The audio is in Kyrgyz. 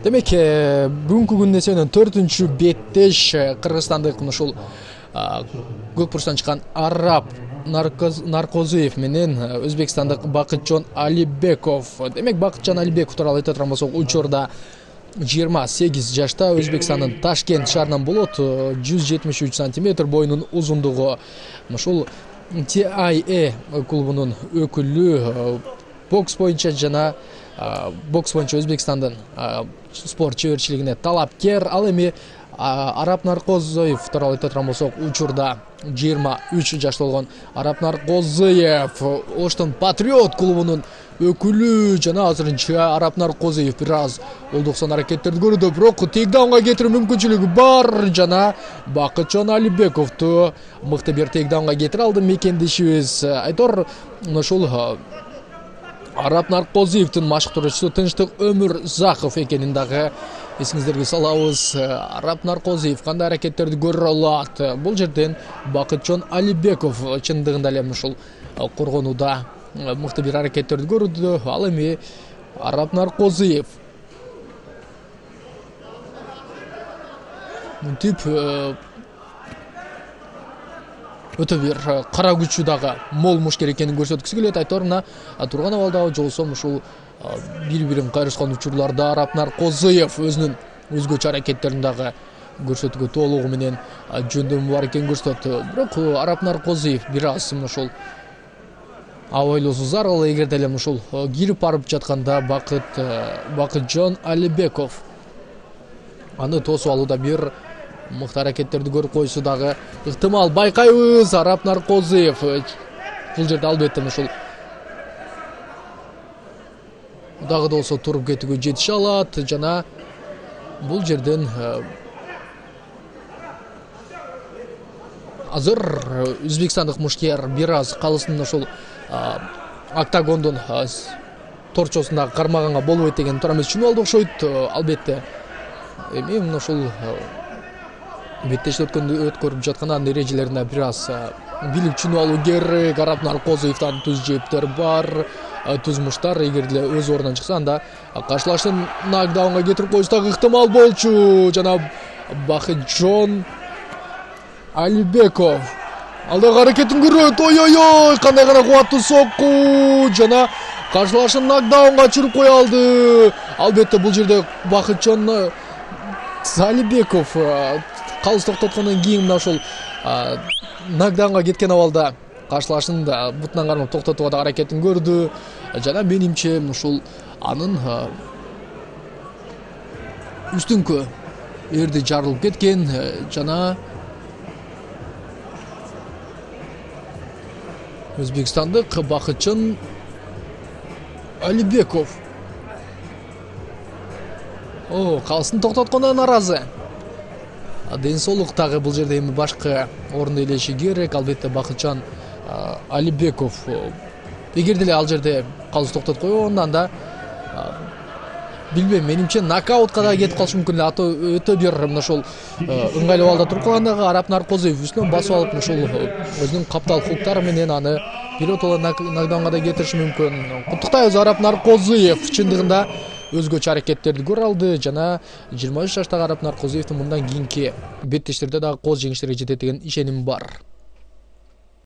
Демек, бүгүнкү күндө 4-чү беттеш кыргызстандык ушул көк бурчтан чыккан Арап Наркозуев менен өзбекстандык Бакытжон Алибеков. Демек, Бакытжон Алибеков тууралуу айта турган болсок, учурда 28 жашта, Өзбекстандын Ташкент шаарынан болот, 173 сантиметр, боюнун узундугу. Ушул TIE клубунун өкүлү, бокс боюнча жана бокс боюнча Өзбекстандын спорт чеберчилигине талапкер. Ал эми Арап Наркозуев тууралуу айта турган болсок, учурда 23 жашта болгон Арап Наркозуев Оштон Патриот клубунун өкүлү жана азырынча Арап Наркозуев бир аз олдуксон аракеттерди көрүүдө, бирок тейкдаунга кетирүү мүмкүнчүлүгү бар жана Бакытжон Алибековду мыкты бир тейкдаунга кетире алды мекендешибиз. Айтор ушул Арап Наркозуевдин машыктыруучусу Тынчтык Өмүрзаков экенин дагы эсиңиздерге салабыз. Арап Наркозуев кандай аракеттерди көрө алат? Бул жерден Бакытжон Алибеков чындыгында эле ушул коргонууда мыкты бир аракеттерди көрүүдө. Ал эми Арап Наркозуев мынтип өтө бир кара күчү дагы мол мушкер экенин көрсөткүсү келет. Айтор мына турган абалдагы жолсом ушул бири-бирин кайрышкан учурларда Арап Наркозуев өзүнүн өзгөчө аракеттерин дагы көрсөтүүгө толугу менен жөндөмү бар экенин көрсөттү. Бирок Арап Наркозуев бир аз ушул абайлоосу зарыл. Эгерде эле ушул кирип барып жатканда Бакытжон Алибеков аны тосуп алууда бир мыкты аракеттерди көрүп койсу дагы ыктымал. Байкайбыз, Арап Наркозуев бул жерде албетте ушул дагы да болсо туруп кетүүгө жетише алат жана бул жерден азыр өзбекстандык мушкер бир аз калысын ушул октагондун торчосундагы кармаганга болбойт деген туура эмес түшүнүп алды окшойт. Албетте эми ушул беттеште өткөрүп жаткан анын эрежелерине бир аз билип түшүнүп алуу керек. Арап Наркозуевден түз жептер бар, түз муштар. Эгер деле өз ордунан чыкса, анда каршылашын нокдаунга кетирип коюшу дагы ыктымал болчу. Жана Бакытжон Алибеков алдагы аракетин көрөт. Ой, кандай гана кубаттуу сокку жана каршылашын нокдаунга чыгып кое алды. Албетте бул жерде Бакытжон Алибеков калыс токтоткондон кийин мына ушул нокдаунга кеткен абалда каршылашын бутунан кармап токтотууга да аракетин көрдү. Жана менимче ушул анын үстүңкү эрди жарылып кеткен жана өзбекстандык Бакытжон Алибеков калысын токтотконго нааразы. Ден соолук дагы бул жерде эми башкы орунду ээлеши керек. Албетте Бакытжон Алибеков эгер деле ал жерде калыс токтотуп койгондо, анда билбейм, менимче нокаутка да кетип калышы мүмкүн эле. Өтө бир ушул ыңгайлуу абалда туруп калгандагы Арап Наркозуев үстүнөн басып алып ушул өзүнүн каптал хуктары менен аны биротоло нокдаунга да кетириши мүмкүн. Куттуктайбыз, Арап Наркозуев чындыгында өзгөчө аракеттерди көрө алды жана 23 жаштагы Арап Наркозуевдин мындан кийинки беттештерде дагы кооз жеңиштерге жетет деген ишеним бар.